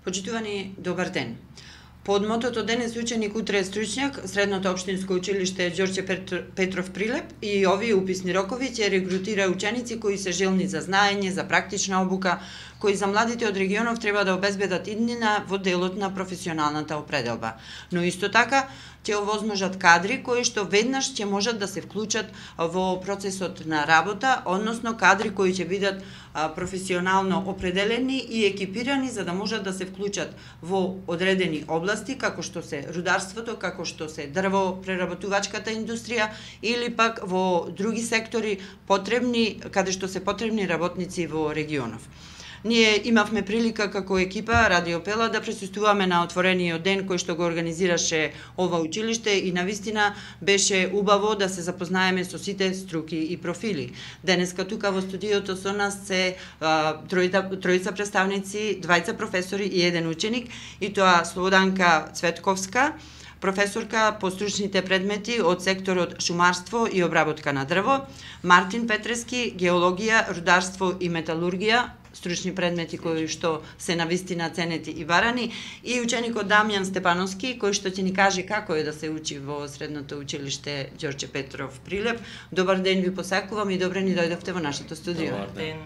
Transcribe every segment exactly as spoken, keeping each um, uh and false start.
Почитувани, добар ден. Под мотото денес ученик, утре стручњак, Средното општинско училиште Ѓорче Петров Прилеп и овие уписни рокови ќе регрутира ученици кои се желни за знаење, за практична обука, кои за младите од регионов треба да обезбедат иднина во делот на професионалната определба. Но исто така ќе овозможат кадри кои што веднаш ќе можат да се вклучат во процесот на работа, односно кадри кои ќе бидат професионално определени и екипирани за да можат да се вклучат во одредени области, како што се рударството, како што се дрвопреработувачката индустрија или пак во други сектори потребни, каде што се потребни работници во регионов. Ние имавме прилика како екипа Радио Пела да присуствуваме на отворениот ден кој што го организираше ова училиште и навистина беше убаво да се запознаеме со сите струки и профили. Денеска тука во студиото со нас се а, тројца, тројца представници, двајца професори и еден ученик, и тоа Слободанка Цветковска, професорка по стручните предмети од секторот шумарство и обработка на дрво, Мартин Петрески, геологија, рударство и металургија, стручни предмети кои што се навистина ценети и барани, и ученикот Дамјан Степановски, кој што ќе ни каже како е да се учи во Средното училиште Ѓорче Петров Прилеп. Добар ден ви посакувам и добре ни дојдовте во нашето студио. Добар ден.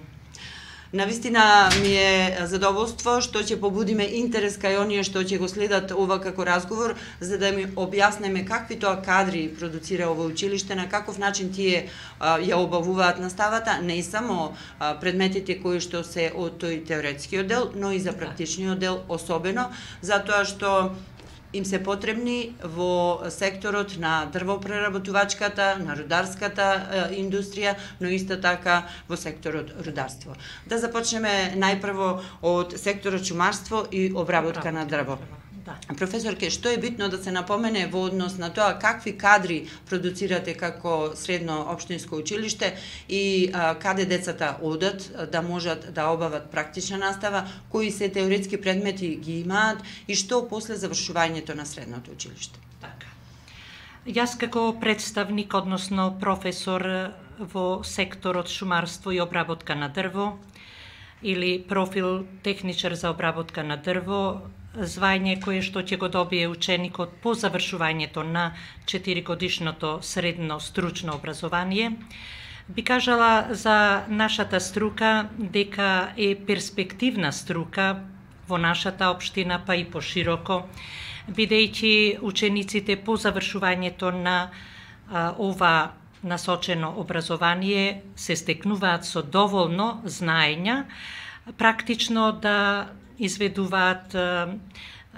Навистина ми е задоволство што ќе побудиме интерес кај оние што ќе го следат ова како разговор, за да ми објаснеме какви тоа кадри продуцира ова училиште, на каков начин тие а, ја обавуваат наставата, не само а, предметите кои што се од тој теоретскиот дел, но и за практичниот дел особено, затоа што им се потребни во секторот на дрвопреработувачката, на рударската индустрија, но исто така во секторот рударство. Да започнеме најпрво од секторот шумарство и обработка на дрво. Да. Професорке, што е битно да се напомене во однос на тоа какви кадри продуцирате како Средно општинско училиште и а, каде децата одат да можат да обават практична настава, кои се теоретски предмети ги имаат и што после завршувањето на средното училиште? Така. Јас како представник, односно професор во секторот шумарство и обработка на дрво или профил техничар за обработка на дрво, звање кое што ќе го добие ученикот по завршувањето на четиригодишното средно стручно образование, би кажала за нашата струка дека е перспективна струка во нашата општина, па и пошироко, бидејќи учениците по завршувањето на а, ова насочено образование се стекнуваат со доволно знаења, практично да изведуваат а,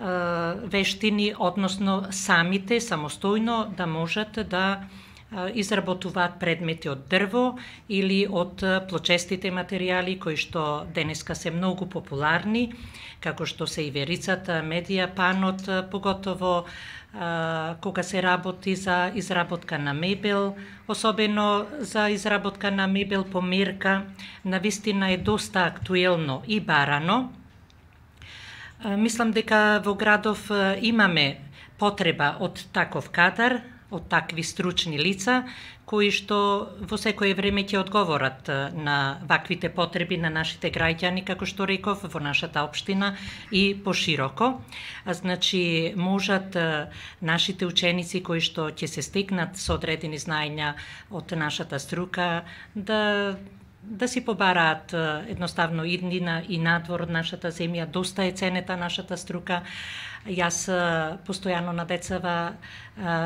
а, вештини, односно самите, самостојно да можат да а, изработуваат предмети од дрво или од плочестите материјали кои што денеска се многу популарни, како што се иверицата, медија, панот, поготово а, кога се работи за изработка на мебел, особено за изработка на мебел по мерка, навистина е доста актуелно и барано. Мислам дека во градов имаме потреба од таков кадар, од такви стручни лица, кои што во секое време ќе одговорат на ваквите потреби на нашите граѓани, како што реков, во нашата општина и пошироко. Значи, можат нашите ученици кои што ќе се стекнат со одредени знаења од нашата струка да да си побараат едноставно иднина и надвор од нашата земја. Доста е ценета нашата струка. Јас постојано на децава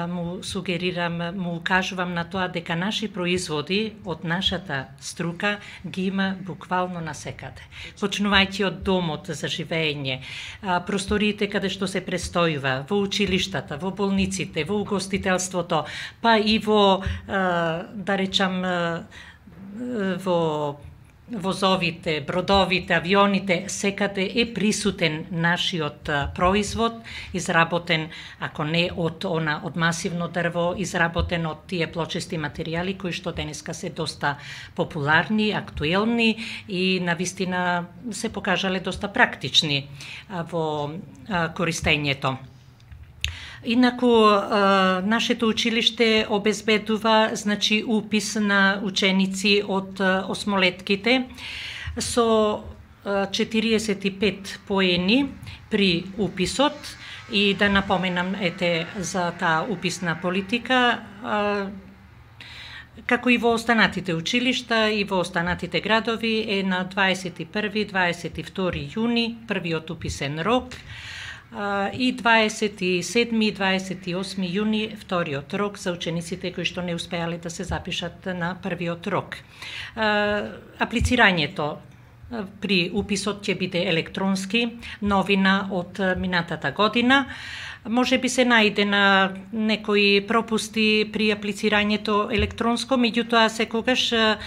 му сугерирам, му укажувам на тоа дека наши производи од нашата струка ги има буквално насекаде. Почнувајќи од домот за живење, просториите каде што се престојува, во училиштата, во болниците, во угостителството, па и во, да речам, во возовите, бродовите, авионите, секаде е присутен нашиот производ, изработен, ако не од она од масивно дрво, изработен од тие плочести материјали кои што денеска се доста популарни, актуелни и навистина се покажале доста практични во користењето. Инаку, нашето училиште обезбедува, значи, упис на ученици од осмолетките со четириесет и пет поени при уписот и да напоменам ете за таа уписна политика, како и во останатите училишта и во останатите градови е на дваесет и први до дваесет и втори јуни првиот уписен рок и дваесет и седми и дваесет и осми јуни вториот рок за учениците кои што не успеале да се запишат на првиот рок. Аплицирањето при уписот ќе биде електронски, новина од минатата година. Може би се најде на некои пропусти при аплицирањето електронско, меѓутоа секогаш а,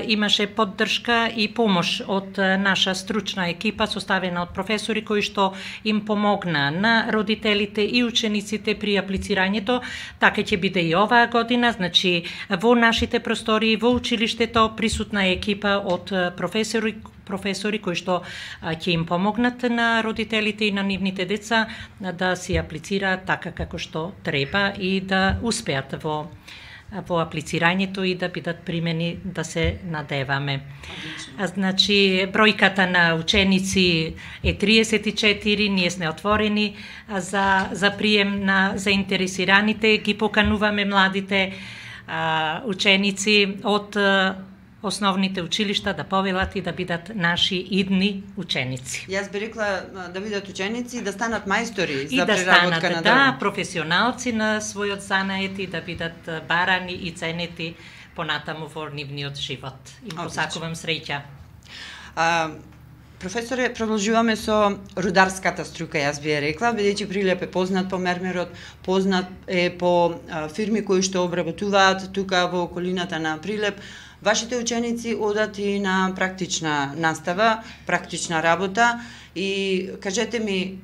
имаше поддршка и помош од наша стручна екипа составена од професори кои што им помогна на родителите и учениците при аплицирањето. Така ќе биде и оваа година, значи во нашите простори, во училиштето присутна е екипа од професори професори кои што ќе им помогнат на родителите и на нивните деца да си аплицираат така како што треба и да успеат во во аплицирањето и да бидат примени, да се надеваме. А, значи, бројката на ученици е триесет и четири, ние сме отворени за, за прием на заинтересираните, ги покануваме младите а, ученици од основните училишта да повелат и да бидат наши идни ученици. Јас би рекла да бидат ученици, да станат мајстори и за да преработка станат, на да, дрво. професионалци на својот занает и да бидат барани и ценети понатаму во нивниот живот. Им посакувам среќа. А, професоре, продолжуваме со рударската струка, јас би ја рекла, бидејќи Прилеп е познат по мермерот, познат е по а, фирми кои што обработуваат тука во околината на Прилеп. Вашите ученици одат и на практична настава, практична работа и кажете ми,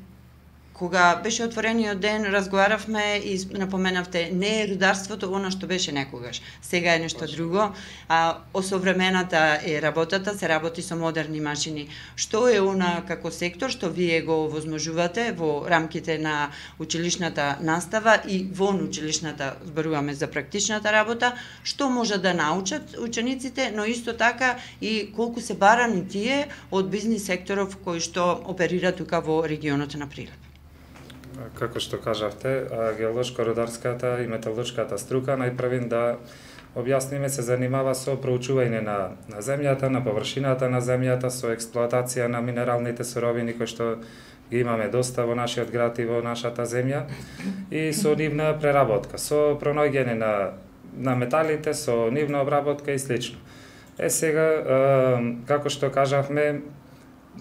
кога беше отворениот ден, разговаравме и напоменавте, не е рударството она што беше некогаш. Сега е нешто друго, а осовремената е работата, се работи со модерни машини. Што е она како сектор што вие го возможувате во рамките на училишната настава и вон училишната, зборуваме за практичната работа, што може да научат учениците, но исто така и колку се барани тие од бизнис секторов кои што оперира тука во регионот на Прилеп. Како што кажавте, геолошко-рударската и металуршката струка најпрвин да објасниме се занимава со проучување на, на земјата, на површината на земјата, со експлоатација на минералните суровини кои што ги имаме доста во нашиот град и во нашата земја и со нивна преработка, со пронаоѓање на, на металите, со нивна обработка и слично. Е сега, како што кажавме,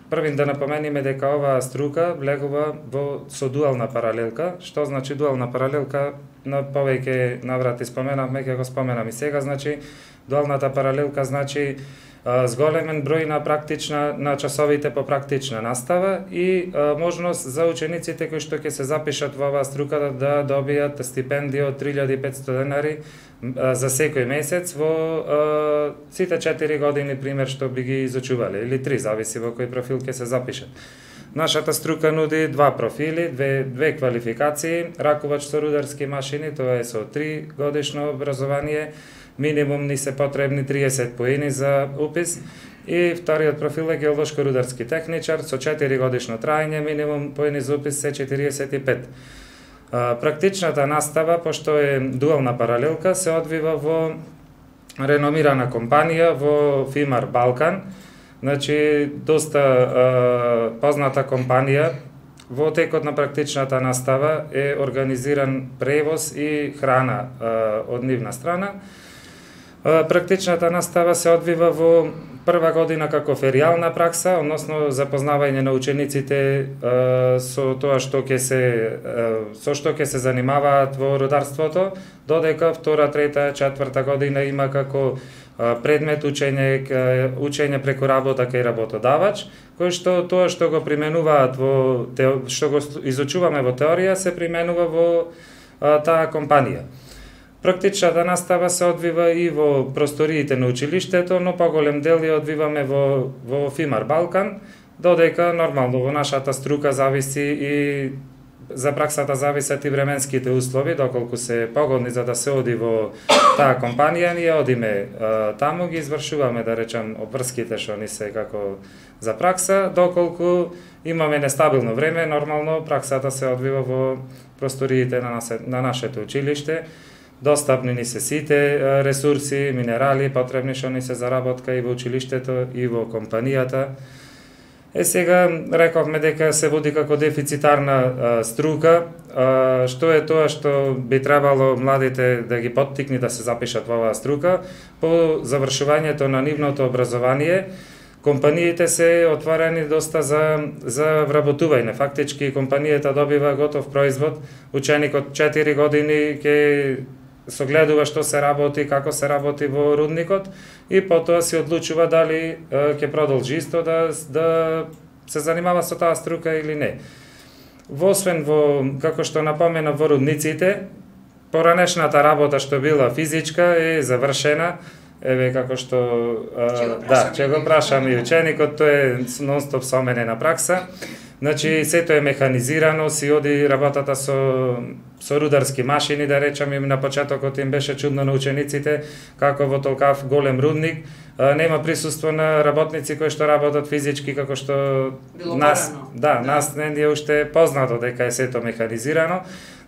првин да напомениме дека оваа струка влегува во со дуална паралелка. Што значи дуална паралелка? На повеќе наврати споменавме, ќе го споменам и сега. Значи, дуалната паралелка значи а, зголемен број на практична на часовите по практична настава и а, можност за учениците кои што ќе се запишат во оваа струка да, да добијат стипендија од три илјади и петстотини денари за секој месец во а, сите четири години, пример, што би ги изучувале, или три, зависи во кој профил ќе се запишат. Нашата струка нуди два профили, две, две квалификации, ракувач со рударски машини, тоа е со три годишно образование, минимум ни се потребни триесет поени за упис, и вториот профил е геолошко-рударски техничар со четири годишно траење, минимум поени за упис се четириесет и пет. Практичната настава, пошто е дуална паралелка, се одвива во реномирана компанија во Фимар Балкан, значи доста а, позната компанија. Во текот на практичната настава е организиран превоз и храна а, од нивна страна. А, практичната настава се одвива во прва година како феријална пракса, односно запознавање на учениците а, со тоа што ќе се а, со што ќе се занимаваат во рударството, додека втора, трета, четврта година има како а, предмет учење учење преку работа кај работодавач, кој што тоа што го применуваат во што го изучуваме во теорија се применува во а, таа компанија. Практичната настава се одвива и во просториите на училиштето, но поголем дел ја одвиваме во, во Фимар Балкан, додека нормално во нашата струка зависи и за праксата зависат и временските услови, доколку се погодни за да се оди во таа компанија, ние одиме таму, ги извршуваме, да речем, обврските што ни се како за пракса, доколку имаме нестабилно време, нормално праксата се одвива во просториите на, насе, на нашето училиште. Достапни ни се сите ресурси, минерали, потребни што ни се за работка и во училиштето, и во компанијата. Е, сега рековме дека се води како дефицитарна а, струка. А, што е тоа што би требало младите да ги поттикни да се запишат во оваа струка? По завршувањето на нивното образование, компаниите се отворени доста за, за вработување. Фактички компанијата добива готов производ, ученик од четири години ќе согледува што се работи, како се работи во рудникот и потоа се одлучува дали ќе продолжи исто да, да се занимава со таа струка или не. Освен во, како што напомена, во рудниците, поранешната работа што била физичка е завршена. Еве како што а, да, ќе го прашам и ученикот, тој е нон-стоп со мене на пракса. Значи, сето е механизирано, си оди работата со, со рударски машини, да речам, им на почетокот им беше чудно на учениците, како во толкав голем рудник, а, нема присуство на работници кои што работат физички, како што било нас, порано. да, да, нас не е уште познато дека е сето механизирано.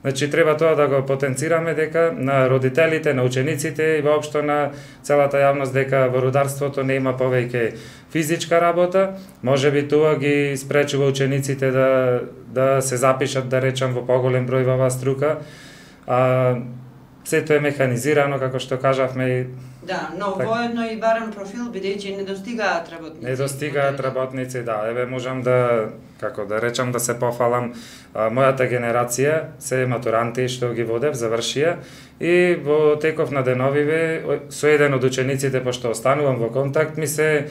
Значи, треба тоа да го потенцираме дека на родителите, на учениците и воопшто на целата јавност дека во рударството не има повеќе физичка работа. Може би тоа ги спречува учениците да, да се запишат, да речам, во поголем број во оваа струка. А, сето е механизирано, како што кажавме. Да, но так, воедно и барем профил, бидејќи не достигаат работници. Не достигаат работници, да. Еве, можам да, како да речам, да се пофалам. А, мојата генерација се матуранти што ги водев, завршија, и во теков на деновиве со еден од учениците, пошто останувам во контакт, ми се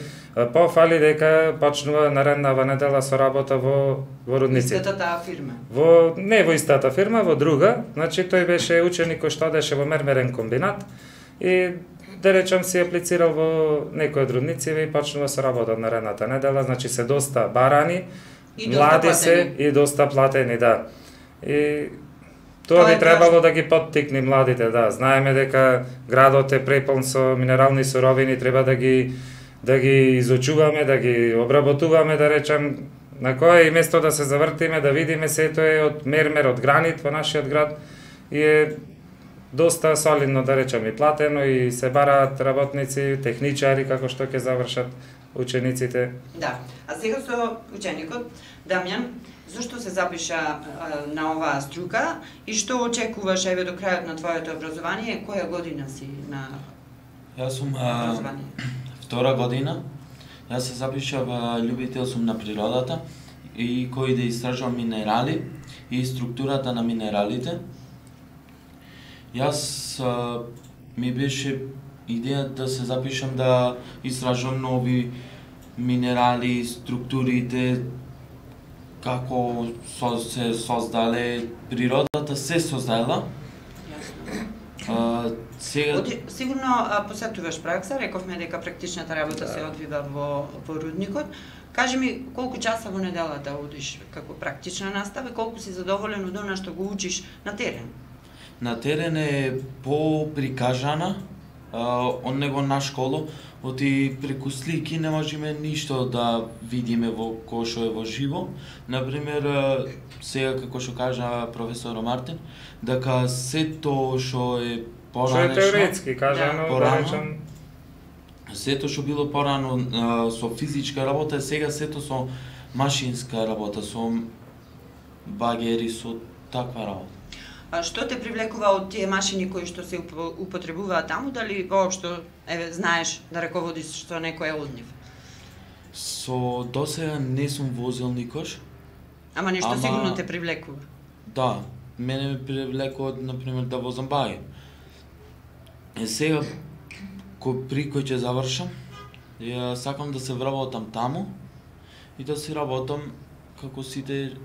пофали дека почнува нареднава недела со работа во, во рудниците. Истата таа фирма? Во, не во истата фирма, во друга. Значи, тој беше ученик кој што одеше во мермерен комбинат и да речам си аплицирал во некој од рудниците и почнува со работа наредната недела. Значи, се доста барани, и доста млади платени. се и доста платени, да. И тоа Тоа би е требало да ги поттикни младите, да. Знаеме дека градот е преполн со минерални суровини, треба да ги да ги изучуваме, да ги обработуваме, да речем, на кое и место да се завртиме, да видиме сето е од мермер, од гранит во нашиот град и е доста солидно, да речем, и платено и се бараат работници, техничари како што ќе завршат учениците. Да. А сега со ученикот Дамјан, зошто се запиша а, на оваа струка и што очекуваш еве до крајот на твоето образование? Која година си на Јас сум а, образование? втора година. Јас се запишав а, љубител сум на природата и кој да истражувам минерали и структурата на минералите. Јас а, ми беше идеја да се запишам да истражувам нови минерали, структурите, како со, се создале, природата се создала. Јасно. А, сега... Оди, сигурно а, посетуваш пракса, рековме дека практичната работа Да. се одвива во, во рудникот. Кажи ми колку часа во неделата одиш како практична настава и колку си задоволен од она што го учиш на терен? На терен е по-прикажана а, од него на школо, оти преку слики не можеме ништо да видиме во кој што е во живо. Например, а, сега како што кажа професор Мартин, дека сето што е Што е поранешно, теоретски кажано, да, порано. речем, сето што било порано а, со физичка работа, сега сето со машинска работа, со багери, со таква работа. А што те привлекува од тие машини кои што се уп- употребуваат таму, дали воопшто еве знаеш да раководиш со некој од нив? Со досега не сум возил никош. Ама нешто Ама- сигурно те привлекува. Да, мене ме привлекува, например, да возам баги. Е сега, кој при кој ќе завршам, ја сакам да се вработам таму и да си работам како сите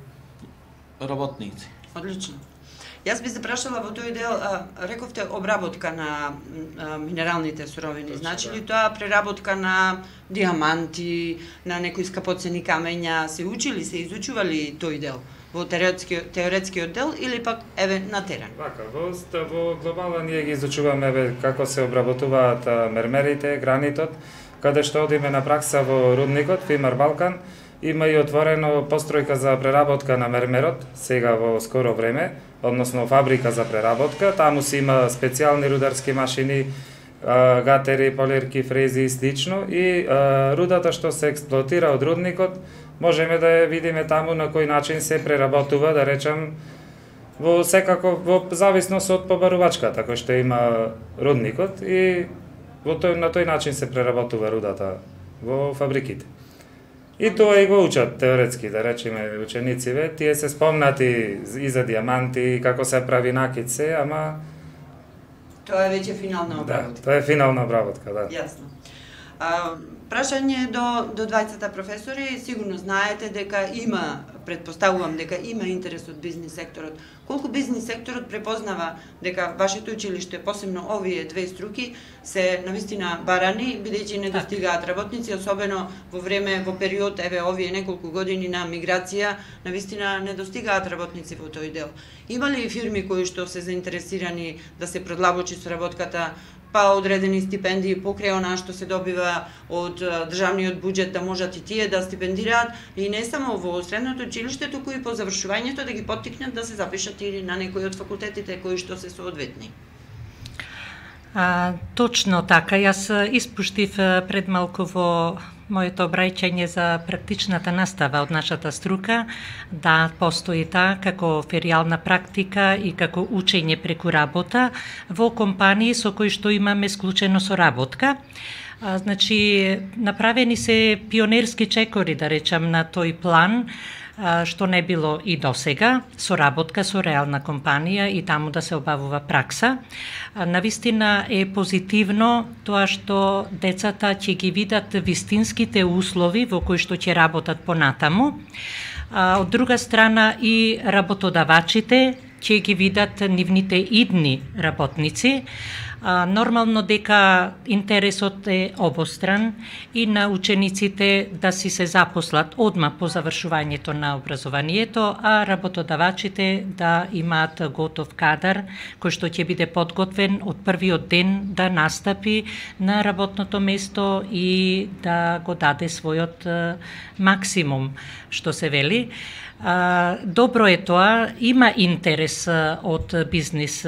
работници. Одлично. Јас би се прашала во тој дел, а, рековте обработка на а, минералните суровини. Точно, Значи да. ли тоа преработка на диаманти, на некои скапоцени камења, се учили, се изучували тој дел? во теоретски теоретскиот дел или пак еве на терен? Вака, во, во глобала ние ги изучуваме еве како се обработуваат мермерите, гранитот, каде што одиме на пракса во рудникот Фимар Балкан. Има и отворено постројка за преработка на мермерот, сега во скоро време, односно фабрика за преработка. Таму си има специјални рударски машини, гатери, полирки, фрези и слично. И а, рудата што се експлоатира од рудникот, можеме да ја видиме таму на кој начин се преработува, да речем, во секако во зависност од побарувачката кој што има рудникот и во тој на тој начин се преработува рудата во фабриките. И тоа и го учат теоретски, да речеме, ученициве, тие се спомнати и за диаманти, како се прави накид се, ама... Тоа е веќе финална обработка. Да, тоа е финална обработка, да. Јасно. А, прашање до, до двајцата професори, сигурно знаете дека има, предпоставувам дека има интерес од бизнис секторот. Колку бизнис секторот препознава дека вашето училиште, посебно овие две струки, се навистина барани, бидејќи не достигаат работници, особено во време, во период, еве овие неколку години на миграција, навистина не достигаат работници во тој дел. Има ли фирми кои што се заинтересирани да се продлабочи соработката, па одредени стипендии покрај онаа што се добива од државниот буџет, да можат и тие да стипендираат и не само во средното училиште, туку и по завршувањето да ги поттикнат да се запишат или на некои од факултетите кои што се соодветни? А, точно така, јас испуштив пред малку во моето обраќање за практичната настава од нашата струка, да постои таа како феријална практика и како учење преку работа во компании со кои што имаме склучено соработка. А, значи, направени се пионерски чекори, да речам, на тој план, што не било и досега, соработка со реална компанија и таму да се обавува пракса. Навистина е позитивно тоа што децата ќе ги видат вистинските услови во кои што ќе работат понатаму. Од друга страна и работодавачите ќе ги видат нивните идни работници. А, нормално дека интересот е обостран и на учениците да си се запослат одма по завршувањето на образованието, а работодавачите да имаат готов кадар кој што ќе биде подготвен од првиот ден да настапи на работното место и да го даде својот е, максимум, што се вели. А, добро е тоа, има интерес од бизнис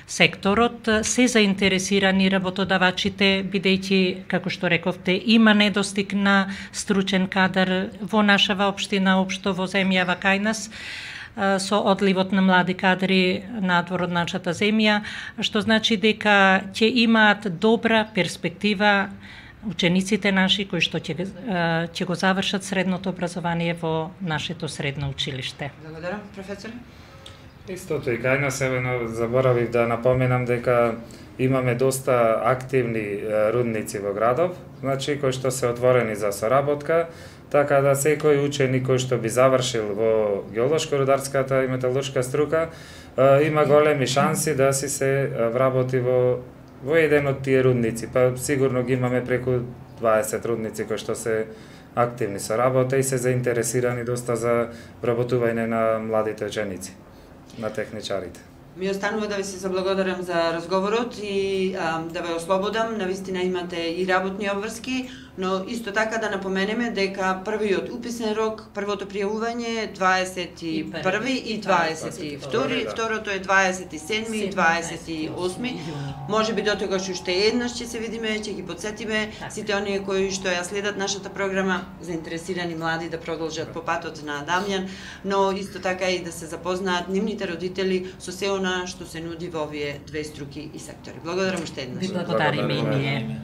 секторот, се заинтересирани работодавачите, бидејќи, како што рековте, има недостиг на стручен кадар во нашава општина, општо во земјава кај нас, со одливот на млади кадри надвор од нашата земја, што значи дека ќе имаат добра перспектива учениците наши кои што ќе ќе го завршат средното образование во нашето средно училиште. Благодарам, професор. Истото и кај нас, еве, заборавив да напоменам дека имаме доста активни рудници во градов, значи кои што се отворени за соработка, така да секој ученик кој што би завршил во геолошко-рударската и металуршка струка има големи шанси да си се вработи во во еден од тие рудници. Па сигурно ги имаме преку дваесет рудници кои што се активни со работа и се заинтересирани доста за вработување на младите ученици, на техничарите. Ми останува да ви се заблагодарам за разговорот и а, да ве ослободам. Навистина имате и работни обврски, но исто така да напоменеме дека првиот уписен рок, првото пријавување е дваесет и први и дваесет и втори, второто е дваесет и седми и дваесет и осми. Може би до тогаш уште еднаш ќе се видиме, ќе ги подсетиме сите оние кои што ја следат нашата програма, заинтересирани млади да продолжат по патот на Дамјан, но исто така и да се запознаат нивните родители со се она што се нуди во овие две струки и сектори. Благодарам уште еднаш. Ви благодариме и ние.